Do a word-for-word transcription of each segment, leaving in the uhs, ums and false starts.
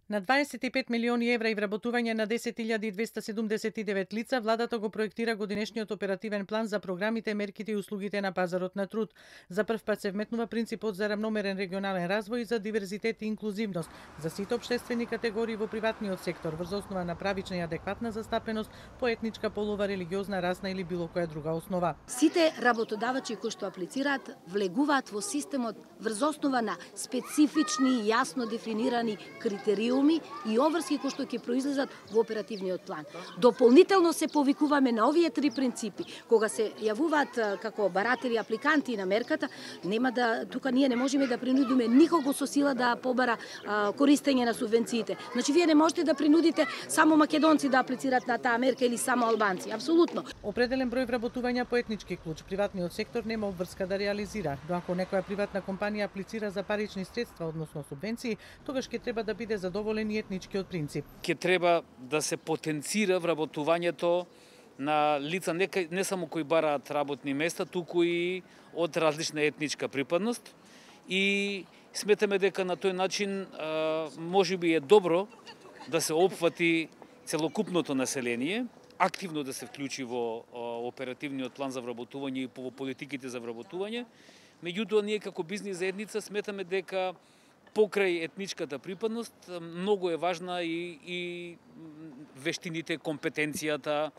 На дваесет и пет милиони евра и вработување на десет илјади двесте седумдесет и девет лица, владата го проектира годинешниот оперативен план за програмите, мерките и услугите на пазарот на труд. За прв пат се вметнува принципот за рамномерен регионален развој и за диверзитет и инклузивност за сите општествени категории во приватниот сектор врз основа на правична и адекватна застапеност по етничка, полова, религиозна, расна или било која друга основа. Сите работодавачи кои што аплицираат влегуваат во системот врз основа на специфични и јасно дефинирани критериуми и обврски кои што ќе произлезат во оперативниот план. Дополнително се повикуваме на овие три принципи. Кога се јавуваат како баратели апликанти на мерката, нема да тука ние не можеме да принудиме никого со сила да побара а, користење на субвенциите. Значи вие не можете да принудите само македонци да аплицираат на таа мерка или само албанци. Апсолутно. Определен број вработувања по етнички клуч приватниот сектор нема обврска да реализира. Но ако некоја приватна компанија аплицира за парични средства, односно субвенции, тогаш ќе треба да биде задоволен и етничкиот принцип. Ќе треба да се потенцира вработувањето на лица не, не само кои бараат работни места, туку и од различна етничка припадност. И сметаме дека на тој начин можеби е добро да се опфати целокупното население, активно да се вклучи во оперативниот план за вработување и во политиките за вработување. Меѓутоа, ние како бизнис заедница сметаме дека покрај етничката припадност многу е важна и, и вештините, компетенцијата,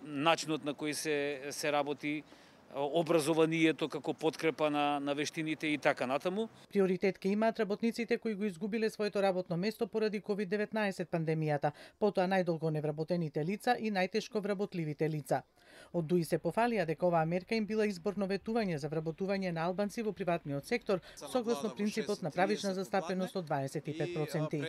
начинот на кој се, се работи, образованието како подкрепа на, на вештините и така натаму. Приоритет ке имаат работниците кои го изгубиле своето работно место поради ковид деветнаесет пандемијата, потоа најдолго невработените лица и најтешко вработливите лица. Од ДУИ се пофалија дека оваа мерка им била изборно ветување за вработување на албанци во приватниот сектор, согласно принципот на правична застапеност од дваесет и пет проценти.